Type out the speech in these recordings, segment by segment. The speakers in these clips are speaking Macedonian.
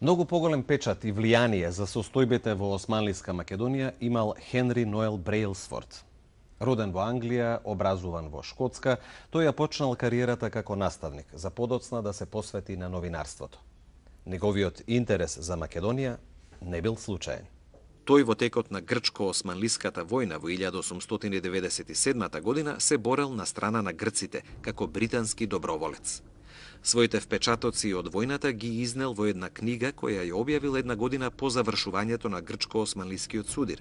Многу поголем печат и влијание за состојбите во Османлиска Македонија имал Хенри Ноел Брејлсфорд. Роден во Англија, образуван во Шкотска, тој ја почнал кариерата како наставник, за подоцна да се посвети на новинарството. Неговиот интерес за Македонија не бил случаен. Тој во текот на грчко-османлиската војна во 1897 година се борел на страна на грците како британски доброволец. Своите впечатоци од војната ги изнел во една книга која ја објавил една година по завршувањето на грчко-османлискиот судир.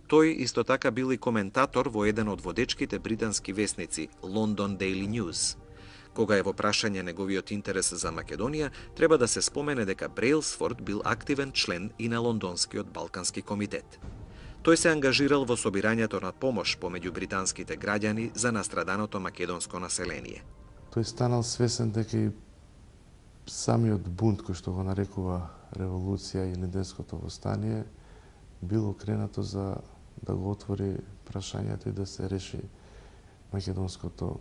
Тој исто така бил и коментатор во еден од водечките британски весници London Daily News. Кога е во прашање неговиот интерес за Македонија, треба да се спомене дека Брејлсфорд бил активен член и на Лондонскиот Балкански комитет. Тој се ангажирал во собирањето на помош помеѓу британските граѓани за настраданото македонско население. Тој станал свесен дека и самиот бунт, кој што го нарекува револуција и Илинденското востание, било кренато за да го отвори прашањето и да се реши македонското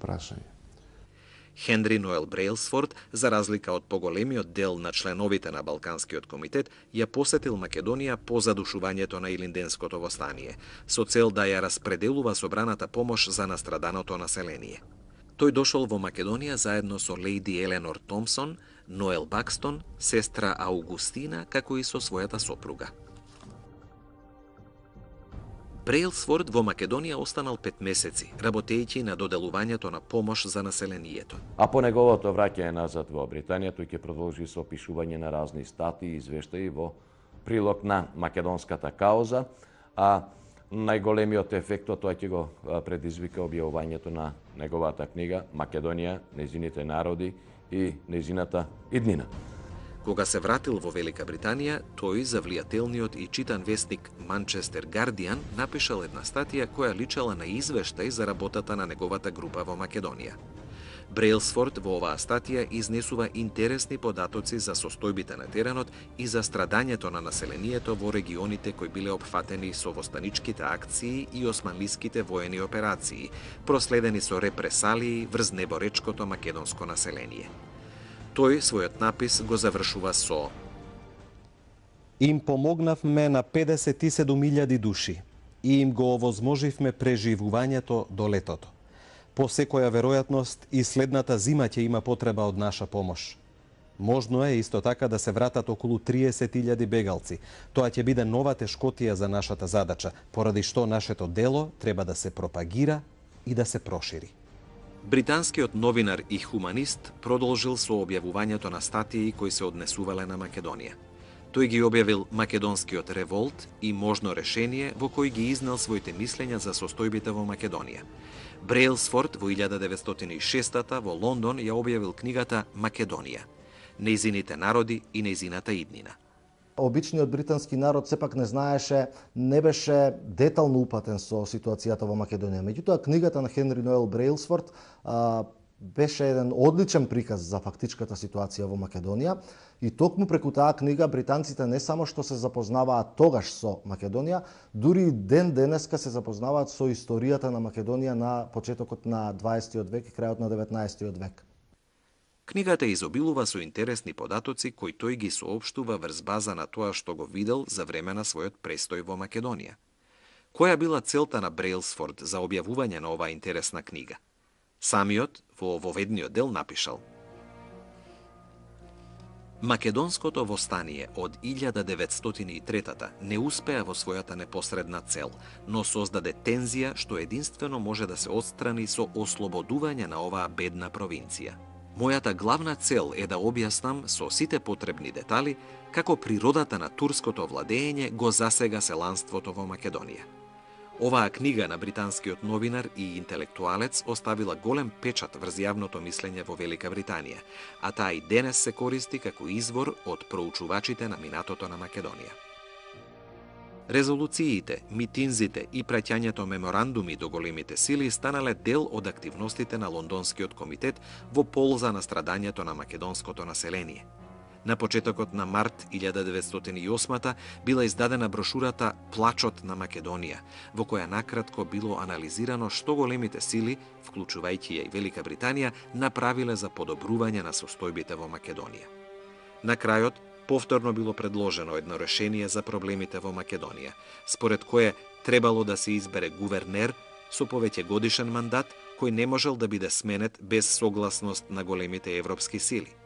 прашање. Хенри Ноел Брејлсфорд, за разлика од поголемиот дел на членовите на Балканскиот комитет, ја посетил Македонија по задушувањето на Илинденското востание, со цел да ја распределува собраната помош за настраданото население. Тој дошол во Македонија заедно со лејди Еленор Томсон, Ноел Бакстон, сестра Аугустина, како и со својата сопруга. Брејлсфорд во Македонија останал 5 месеци, работејќи на доделувањето на помош за населението. А по неговото враќање назад во Британија, тој ќе продолжи со опишување на разни статии и извештаи во прилог на македонската кауза, а најголемиот ефект од тоа ќе го предизвика објавувањето на неговата книга Македонија, нејзините народи и нејзината иднина. Кога се вратил во Велика Британија, тој за влијателниот и читан вестник Манчестер Гардијан напишал една статија која личала на извештај за работата на неговата група во Македонија. Брејлсфорд во оваа статија изнесува интересни податоци за состојбите на теренот и за страдањето на населението во регионите кои биле опфатени со востаничките акции и османлиските воени операции, проследени со репресалии врз неборечкото македонско население. Тој својот напис го завршува со: Им помогнавме на 57.000 души и им го овозможивме преживувањето до летото. По секоја веројатност и следната зима ќе има потреба од наша помош. Можно е исто така да се вратат околу 30.000 бегалци. Тоа ќе биде нова тешкотија за нашата задача, поради што нашето дело треба да се пропагира и да се прошири. Британскиот новинар и хуманист продолжил со објавувањето на статии кои се однесувале на Македонија. Тој ги објавил Македонскиот револт и можно решение, во кој ги изнел своите мислења за состојбите во Македонија. Брејлсфорд во 1906 во Лондон ја објавил книгата Македонија, нејзините народи и нејзината иднина. Обичниот британски народ сепак не знаеше, не беше детално упатен со ситуацијата во Македонија. Меѓутоа, книгата на Хенри Ноел Брејлсфорд беше еден одличен приказ за фактичката ситуација во Македонија и токму преку таа книга британците не само што се запознаваат тогаш со Македонија, дури и ден денеска се запознаваат со историјата на Македонија на почетокот на 20 век и крајот на 19 век. Книгата изобилува со интересни податоци кои тој ги соопштува врз база на тоа што го видел за време на својот престој во Македонија. Која била целта на Брејлсфорд за објавување на оваа интересна книга? Самиот во воведниот дел напишал: Македонското востание од 1903 не успеа во својата непосредна цел, но создаде тензија што единствено може да се отстрани со ослободување на оваа бедна провинција. Мојата главна цел е да објаснам со сите потребни детали како природата на турското владење го засега селанството во Македонија. Оваа книга на британскиот новинар и интелектуалец оставила голем печат врз јавното мислење во Велика Британија, а таа и денес се користи како извор од проучувачите на минатото на Македонија. Резолуциите, митинзите и праќањето меморандуми до големите сили станале дел од активностите на Лондонскиот комитет во полза на страдањето на македонското население. На почетокот на март 1908 била издадена брошурата Плачот на Македонија, во која накратко било анализирано што големите сили, вклучувајќи ја и Велика Британија, направиле за подобрување на состојбите во Македонија. На крајот, повторно било предложено едно решение за проблемите во Македонија, според кое требало да се избере гувернер со повеќе годишен мандат, кој не можел да биде сменет без согласност на големите европски сили.